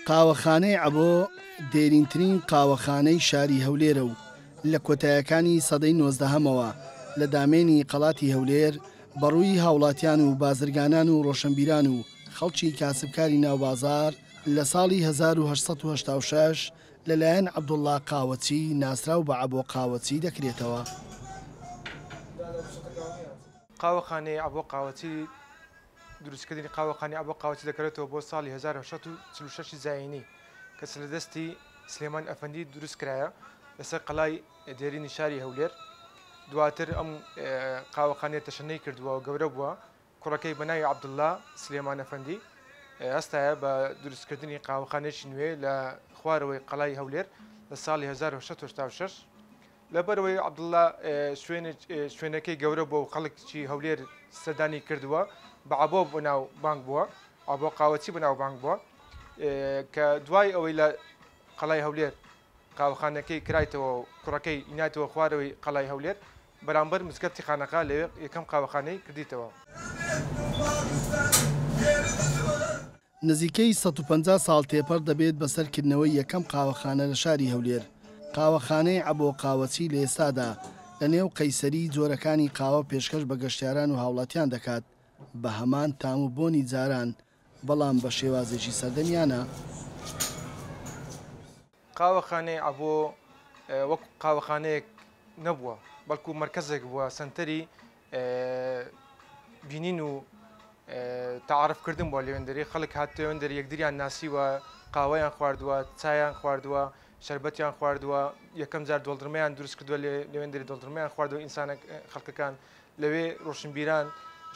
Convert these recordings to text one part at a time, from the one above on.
قاوەخانەی عەبۆ دێرینترین قاوەخانەی شاری هەولێرە و لە کۆتایەکانی سەدەی نۆزدەهەمەوە لە دامێنی قەڵاتی هەولێر بەڕووی هاوڵاتیان و بازرگانان و ڕۆشنبیران و خەڵکی کاسبکاری ناو بازاڕ لە ساڵی 1886 لەلایەن عەبدوڵڵا قاوەچی ناسراو بە عەبۆ قاوەچی دەکرێتەوە. قاوەخانەی عەبۆ قاوەچی دروستکردنی قاوەخانەی عەبۆ قاوەچی دەگەڕێتەوە بۆ ساڵی 1846 زایینی کە لە دەستی سلێمان ئەفەندی دروست کرایە لەسەر قەڵای دێرینی شاری هەولێر. دواتر ئەم قاوەخانەیە تەشەنەی کردووە و گەورە بووە. کوڕەکەی بە ناوی عەبدوڵڵا سلێمان ئەفەندی هەستایە بە دروستکردنی قاوەخانەیەکی نوێ لە خوارەوەی قەڵای هەولێر لە ساڵی 1886. لەبەرئەوەی عەبدوڵڵا شوێنەکەی گەورە بووە و خەڵکی هەولێر سەردانی کردووە، بە عەبۆ بەناوبانگ بووە، عەبۆ قاوەچی بەناوبانگ بووە، کە دوای ئەوەی لە قەڵای هەولێر قاوەخانەکەی کرایتەوە و کوڕەکەی ئیناتەوە خوارەوەی قەڵای هەولێر بەرامبەر مزگەفتی خانەقا لەوێ یەکەم قاوەخانەی کردیتەوە. نزیکەی 150 ساڵ تێپەڕ دەبێت بەسەر کردنەوەی یەکەم قاوەخانە لە شاری هەولێر، قاوەخانەی عەبۆ قاوەچی لە ئێستادا لە نێو قەیسەری جۆرەکانی قاوە پێشکەش بە گەشتیاران و هاوڵاتیان دەکات بە هەمان تام و بۆنی جاران بەڵام بە شێوازێکی سەردەمیانە. قاوەخانەی عەبۆ وەک قاوەخانەیەک نەبووە، بەڵکو مەرکەزێک بووە، سەنتەری بینین و تەعارف کردن بووە لەوێندەری، خەڵک هاتووەندەری یەکدریان ناسیوە، قاوەیان خواردووە، چایان خواردووە، شەربەتیان خواردووە، یەکەم جار دۆڵدرمەیان دروست کردووە لەوێندەری دۆڵدرمەیان خواردووە ئینسانە خەڵکەکان لەوێ ڕۆشنبیران،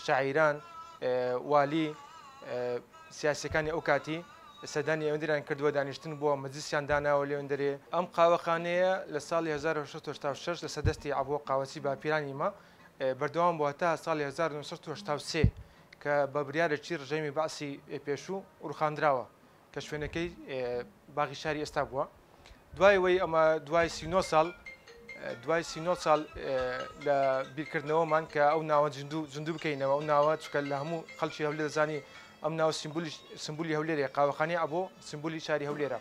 شاعیران، والی، سیاسیەکانی ئەو کاتی سەردانی ئەوێندەریان کردووە، دانیشتن بووە، مەجلیسیان داناوە لەوێندەرێ. ئەم قاوەخانەیە لە ساڵی 1886 لەسەر دەستی عەبۆ قاوەچی باپیرانی مە بەردەوام بووە تا ساڵی 1983 کە بە بریارێکی ڕژێمی بەعسی پێشوو ڕوخاندراوە کە شوێنەکەی باغی شاری ئێستا بووە. دوای وەی ئەمە دوای 39 ساڵ دوای 39 ساڵ لە بیرکردنەوەمان کە ئەو ناوە زیندوو زیندوو بکەینەوە، ئەو ناوە چونکە لە هەموو خەڵکی هەولێر دەزانی ئەم ناوە سیمبولی سیمبولی هەولێرە، قاوەخانەی عەبۆ سیمبولی شاری هەولێرە.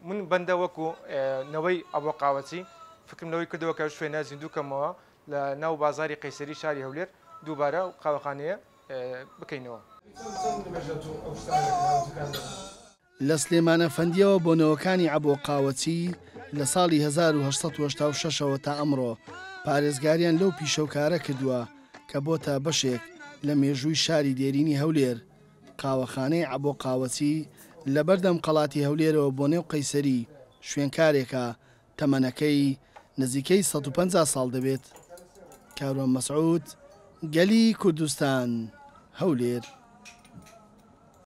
من بەندە وەکو نەوەی عەبۆ قاوەچی فکرم لەوەی کردەوە کە شوێنە زیندوو کەمەوە لە ناو بازاری قەیسەری شاری هەولێر دووبارە ئەو قاوەخانەیە بکەینەوە. لە سلێمانەفەندییەوە بۆ نەوەکانی عەبۆ قاوەچی لە ساڵی 1886 ەوە تا ئەمڕۆ پارێزگاریان لەو پیشە و کارە کردووە کە بۆتە بەشێک لە مێژووی شاری دێرینی هەولێر. قاوەخانەی عەبۆ قاوەچی لە بەردەم قەڵاتی هەولێرەوە بۆ نێو قەیسەری شوێنکارێکە تەمەنەکەی نزیکەی 150 ساڵ دەبێت. کاروان مەسعود، گەلی کوردستان، هەولێر.